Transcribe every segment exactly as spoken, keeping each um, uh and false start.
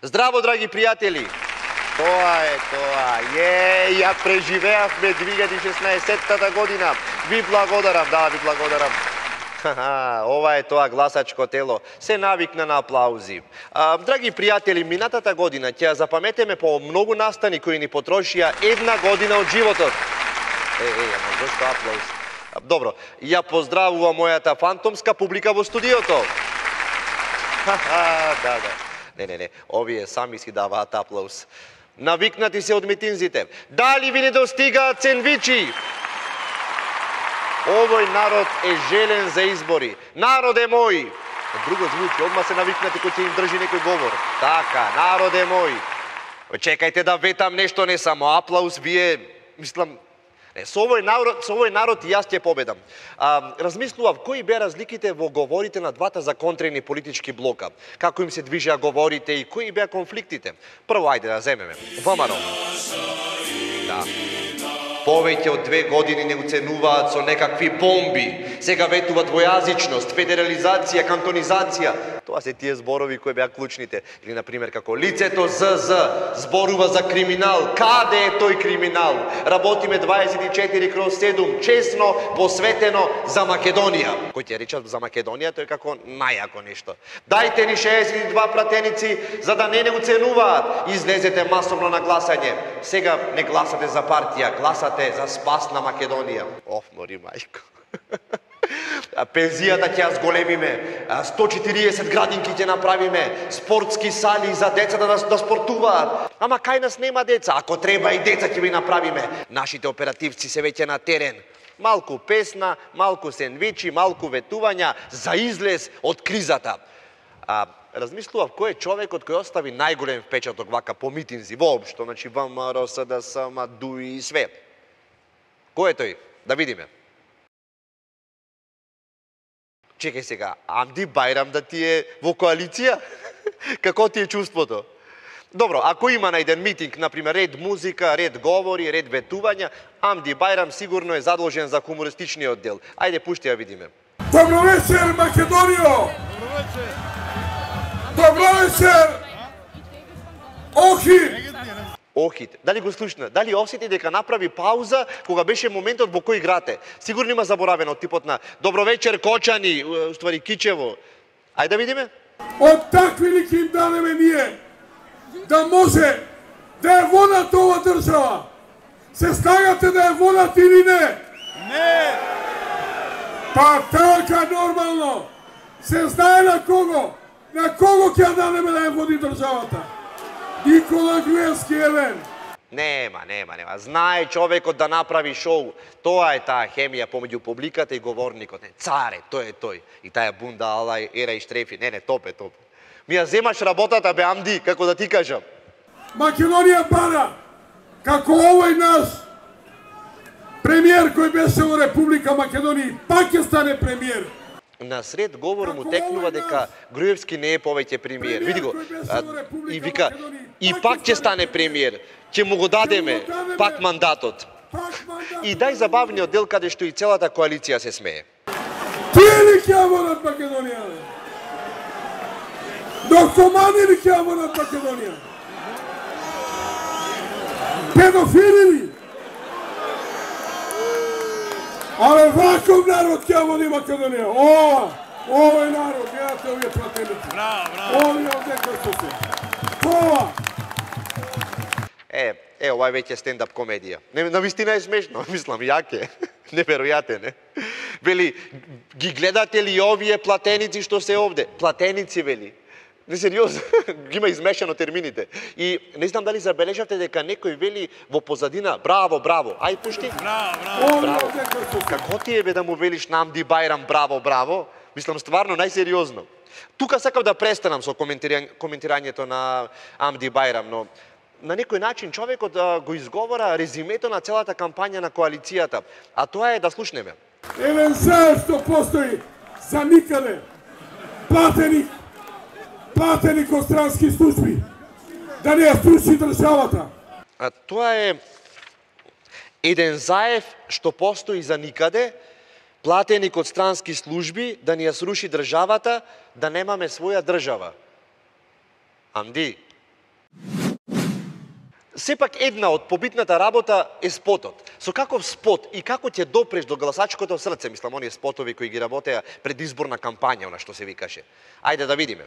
Здраво, драги пријатели! Тоа е тоа. Е, ја преживеавме две илјади и шеснаесеттата година. Ви благодарам, да, ви благодарам. Ха-ха, ова е тоа гласачко тело. Се навикна на аплаузи. А, драги пријатели, минатата година ќе запаметеме по многу настани кои ни потрошија една година од животот. Е, е, ама зошто аплауз? Добро, ја поздравувам мојата фантомска публика во студиото. Ха-ха, да, да. Не, не, не, овие сами си даваат аплауз. Навикнати се од митинзите. Дали ви не достигаат сендвичи? Овој народ е желен за избори. Народе мој! Друго звучи, одма се навикнати кој ќе им држи некој говор. Така, народе мој! Чекајте да ветам нешто, не само аплауз, вие, мислам, не, со овој народ, со овој народ и јас ќе победам. А, размислував кои беа разликите во говорите на двата законтрени политички блока, како им се движеа говорите и кои беа конфликтите. Прво, ајде да земеме. ВМРО. Да. Повеќе од две години не уценуваат со некакви бомби. Сега ветуваат двојазичност, федерализација, кантонизација. Тоа се тие зборови кои беа клучните. Или, например, како лицето ЗЗ зборува за криминал. Каде е тој криминал? Работиме дваесет и четири кроз седум, честно, посветено за Македонија. Кој ќе речат за Македонија, тој како најако нешто. Дајте ни шеесет и два пратеници, за да не не уценуваат. Излезете масовно на гласање. Сега не гласате за партија, гласате за спас на Македонија. Оф, мори мајко. Пензијата ќе ја зголемиме, сто и четириесет градинки ќе направиме, спортски сали за децата да, да спортуваат. Ама кај нас нема деца, ако треба и деца ќе ви направиме. Нашите оперативци се веќе на терен. Малку песна, малку сендвичи, малку ветувања за излез од кризата. А, размислував кој е човекот кој остави најголем впечаток вака по митинзи, воопшто, значи ВМРО, СДС, ДУИ и све. Кој е тој? Да видиме. Чекај сега, Амди Бајрам да ти е во коалиција? Како ти е чувството? Добро, ако има на еден митинг, например, ред музика, ред говори, ред ветувања, Амди Бајрам сигурно е задолжен за хумористичниот дел. Ајде, пушти ја видиме. Добро вечер, Македонијо! Добро вечер! Добро вечер! Охид! Охид. Дали го слушна? Дали осети дека направи пауза кога беше моментот во кој играте? Сигурно има заборавено од типот на добро вечер, Кочани, уствари Кичево. Ајде да видиме. Од такви ли ќе им дадеме ние да може да ја водат ова држава? Се стагате да ја водат или не? Не! Па така нормално. Се знае на кого? На кого ќе ја дадеме да ја води државата? Никола Груевски, евен. Нема, нема, нема. Знае човекот да направи шоу. Тоа е таа хемија помеѓу публиката и говорникот. Не, царе, тој е тој. И таа бунда, алај, ера и штрефи. Не, не, топ е, топ. Ми ја земаш работата, бе, Амди, како да ти кажам. Македонија пара, како овој наш премиер кој беше во Република Македонија, пак ќе стане премиер. На сред говор му текнува дека Груевски не е повеќе премиер. Види го, а, и вика, и пак ќе стане премиер. Ќе му го дадеме пак мандатот. И дај забавниот дел каде што и целата коалиција се смее. Тие ли ќе водат Македонија? Наркомани ли ќе водат Македонија? Педофили ли? Але ваков народ ќе води Македонија. Ова, овој народ, гледате овие пратеници. Браво, браво. Овие овде кои што се. Ова. Е, е, ова е веќе стендап комедија. Не, навистина е смешно, мислам, јак е. Неверојатен е. Вели, ги гледате ли овие платеници што се овде? Платеници, вели. Не, сериозно, ги има измешано термините. И не знам дали забележавте дека некој вели во позадина, браво, браво. Ај, пушти. Браво, браво. Браво. Како ти е бе да му велиш на Амди Бајрам, браво, браво? Мислам, стварно, најсериозно. Тука сакав да престанам со коментирање, коментирањето на Амди Бајрам, но на некој начин човекот да го изговора резимето на целата кампања на коалицијата. А тоа е да слушнеме. Евен се што постои за никаде. Платени, платени кod странски служби. Да не ја струши државата. А тоа е еден заев што постои за никаде, платени код странски служби, да ни ја сруши државата, да немаме своја држава. Амди, Сепак една од побитната работа е спотот. Со каков спот и како ќе допреш до гласачкото срце, мислам, оние спотови кои ги работеа предизборна кампања, она што се викаше. Ајде да видиме.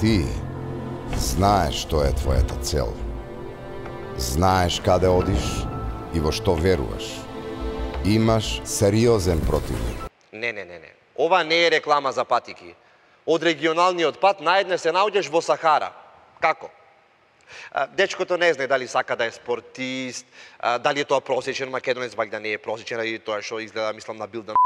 Ти знаеш што е твојата цел. Знаеш каде одиш и во што веруваш. Имаш сериозен противник. Не, не, не, не. Ова не е реклама за патики. Од регионалниот пат наедне се наоѓаш во Сахара. Како? Дечкото не знае дали сака да е спортист, дали е тоа просечен македонец, вајде да не е просечен, или тоа што изгледа, мислам, на билдан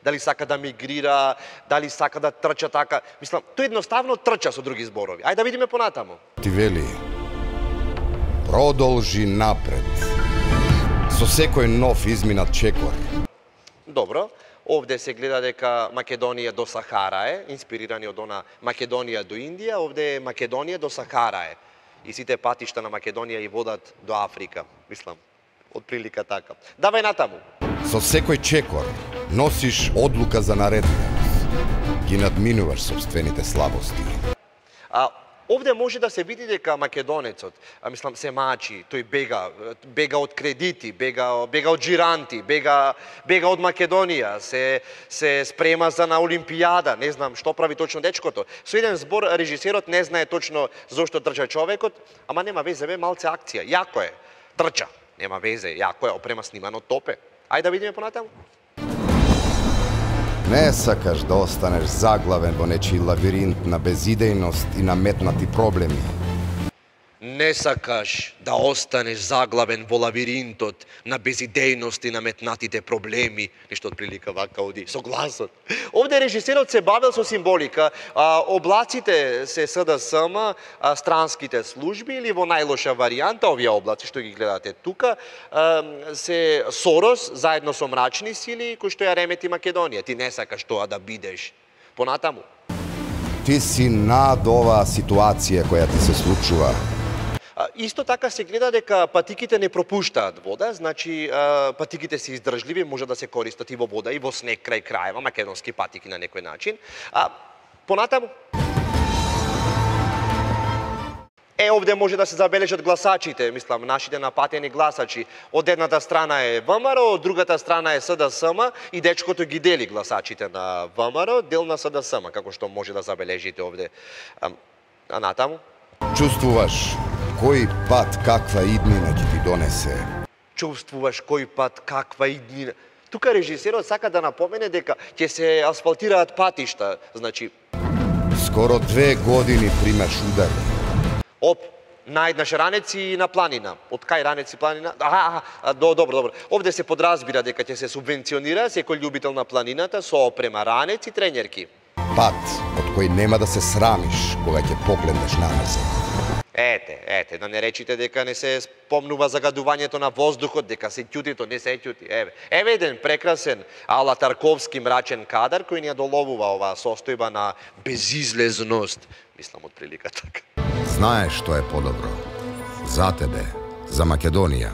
дали сака да мигрира, дали сака да трча така. Мислам, тој едноставно трча со други зборови. Ајде да видиме понатаму. Ти вели, продолжи напред. Со секој нов изминат чекор. Добро. Овде се гледа дека Македонија до Сахара е, инспирирани од она Македонија до Индија, овде е Македонија до Сахара е. И сите патишта на Македонија и водат до Африка, мислам, од прилика така. Давај натаму. Со секој чекор носиш одлука за наредбеност. Ги надминуваш собствените слабости. А овде може да се види дека македонецот, а мислам, се мачи, тој бега, бега од кредити, бега, бега од джиранти, бега, бега од Македонија, се, се спрема за на Олимпијада, не знам што прави точно дечкото. Со еден збор режисерот не знае точно зошто трча човекот, ама нема везе, бе, малце акција, јако е, трча, нема везе, јако е, опрема снимано топе. Ајде да видиме понатаму. Не сакаш да останеш заглавен во нечи лавиринт на безидејност и наметнати проблеми. Не сакаш да останеш заглавен во лавиринтот на безидејност и наметнатите проблеми, нешто од прилика вака оди, со гласот. Овде режисерот се бавел со символика, а, облаците се СДСМ, а, странските служби или во најлоша варијанта, овие облаци што ги гледате тука, а, се Сорос заедно со мрачни сили кои што ја ремети Македонија. Ти не сакаш тоа да бидеш. Понатаму. Ти си над оваа ситуација која ти се случува. Исто така се гледа дека патиките не пропуштаат вода, значи патиките се издржливи, може да се користат и во вода, и во снег крај крајева, македонски патики на некој начин. А, понатаму. Е, овде може да се забележат гласачите, мислам, нашите напатени гласачи. Од едната страна е ВМРО, од другата страна е СДСМ и дечкото ги дели гласачите на ВМРО, дел на СДСМ, како што може да забележите овде. А, а натаму? Чувствуваш кој пат каква иднина ќе ти донесе. Чувствуваш кој пат каква иднина. Тука режисерот сака да напомене дека ќе се асфалтираат патишта, значи... Скоро две години примаш удари. Оп, наеднаш ранеци и на планина. Од кај ранеци планина? Аха, аха, до, добро, добро. Овде се подразбира дека ќе се субвенционира секој љубител на планината со опрема ранеци и тренерки. Пат од кој нема да се срамиш кога ќе погледнеш наназад. Ете, ете, да не речите дека не се спомнува загадувањето на воздухот, дека се ќути, то не се ќути. Еве, еве еден прекрасен ала Тарковски мрачен кадар кој ни ја доловува оваа состојба на безизлезност. Мислам од прилика така. Знаеш што е подобро. За тебе, за Македонија.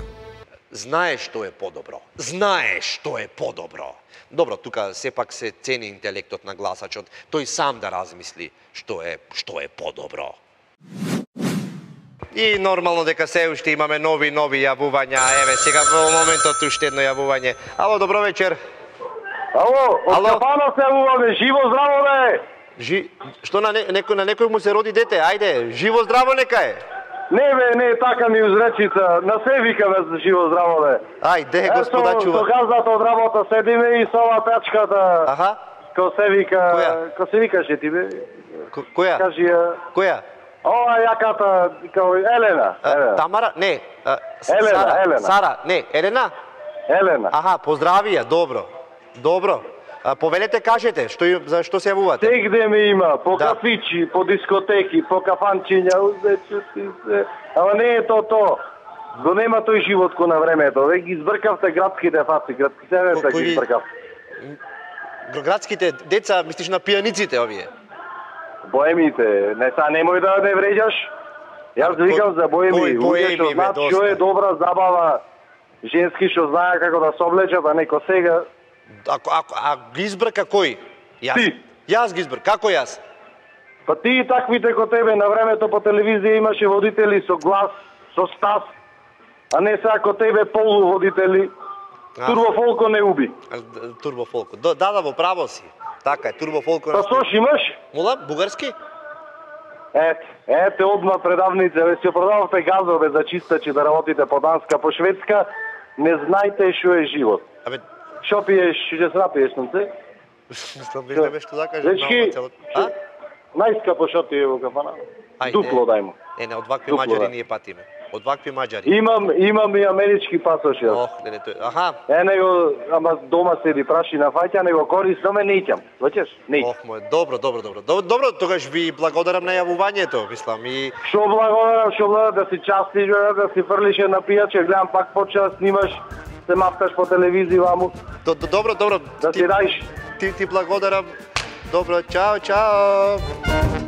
Знаеш што е подобро. Знаеш што е подобро. Добро, тука сепак се цени интелектот на гласачот. Тој сам да размисли што е што е подобро. И нормално дека се уште имаме нови нови јавувања. Еве сега во моментот уште едно јавување. Ало, добро вечер. Ало, од Капана се јавуваме. Живо здраво бе. Жи... Што на не... некој на некој му се роди дете? Ајде, живо здраво нека е. Не бе, не, така ми узречица. На се викаме за живо здраво бе. Ајде, господа чува. Со газдата од работа седиме и со ова печката. Аха. Ко се вика, Која? ко се викаше ти бе? Ко, која? Кажи ја. Која? Ова јаката, као Елена. А, Елена. Тамара? Не. А, Елена, Сара. Елена. Сара, не, Елена? Елена. Аха, поздрави ја, добро. Добро. А, повелете, кажете, што за што се јавувате? Сегде ме има, по Да. кафичи, по дискотеки, по кафанчиња, узече си се. Ама не е то то. Го нема тој живот ко на времето. Ве ги избркавте градските фаци, градските Ко- се кои ги ги- избркав. Градските деца, мислиш на пијаниците овие? Боемите, не са немој да не вреđаш. Јас Ко- викам за боеми, кои луѓе боеми, што бе, знаат доста. што е добра забава, женски што знаат како да се облечат, а неко сега. Ако, ако, а ги избрка кој? Јас. Ти. Јас ги избрка. Како јас? Па ти и таквите ко тебе на времето по телевизија имаше водители со глас, со стас, а не сега ко тебе полуводители. Турбо Фолко не уби. Турбо Фолко. Да, да, во право си. Така е, Турбо Фолко. Па сош имаш? Мола, бугарски? Ете, ете одма предавница, ве си продававте газове за чистачи да работите по Данска, по Шведска, не знаете што е живот. Абе, Што пиеш, ќе се напиеш, сонце? мислам, виждаме што да кажеш. Дечки, цело- А? најскапо што ти е во кафана? Ај, Дупло е, дај му. Е, не, од вакви Дупло, маđари да. ние патиме. Од вакви маđари. Имам, имам и амерички пасош јас. Ох, не, не, тој. Аха. Е, него, ама дома седи праши на фаќа, него користаме, не иќам. Ваќаш? Не иќам. Ох, мој, добро, добро, добро. Добро, добро, тогаш ви благодарам на јавувањето, мислам и Шо благодарам, шо благодарам да си частиш, бе, да си фрлиш една пијаче, гледам пак почна да снимаш, се мапташ по телевизија ваму, До- до- добро, добро. да Ти- си дајш. Ти ти благодарам. Добро, чао, чао.